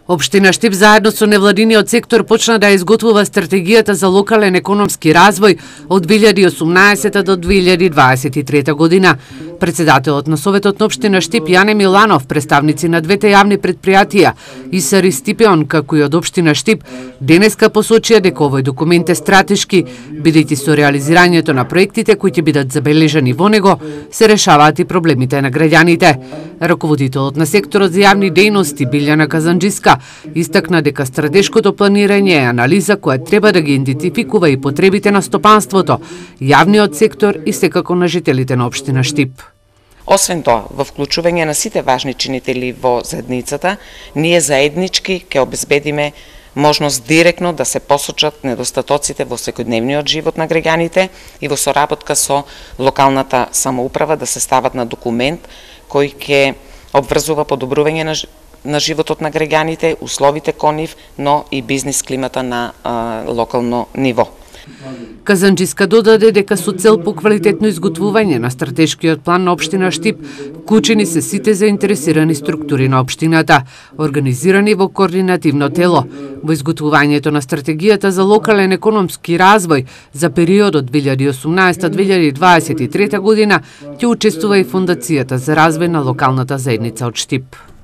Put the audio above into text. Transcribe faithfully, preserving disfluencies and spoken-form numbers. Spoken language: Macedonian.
Општина Штип заедно со невладиниот сектор почна да изготвува стратегијата за локален економски развој од две илјади и осумнаесета до две илјади дваесет и трета година. Председателот на Советот на Општина Штип Јане Миланов, представници на двете јавни предпријатија ИСАР и Стипеон, како и од Општина Штип, денеска посочија дека овој документ е стратешки, бидејќи со реализирањето на проектите кои ќе бидат забележани во него, се решаваат и проблемите на граѓаните. Раководителот на секторот за јавни дејности Билјана Казанџиска истакна дека стратешкото планирање е анализа која треба да ги идентификува и потребите на стопанството, јавниот сектор и секако на жителите на Општина Штип. Освен тоа, во вклучување на сите важни чинители во заедницата, ние заеднички ќе обезбедиме можност директно да се посочат недостатоците во секојдневниот живот на граѓаните и во соработка со локалната самоуправа да се стават на документ кој ќе обврзува подобрување на на животот на граѓаните, условите кон нив, но и бизнис климата на а, локално ниво. Казанџиска додаде дека со цел по квалитетно изготвување на стратешкиот план на Општина Штип вклучени се сите заинтересирани структури на општината, организирани во координативно тело. Во изготвувањето на стратегијата за локален економски развој за периодот две илјади и осумнаесета до две илјади дваесет и трета година ќе учествува и Фондацијата за развој на локалната заедница од Штип.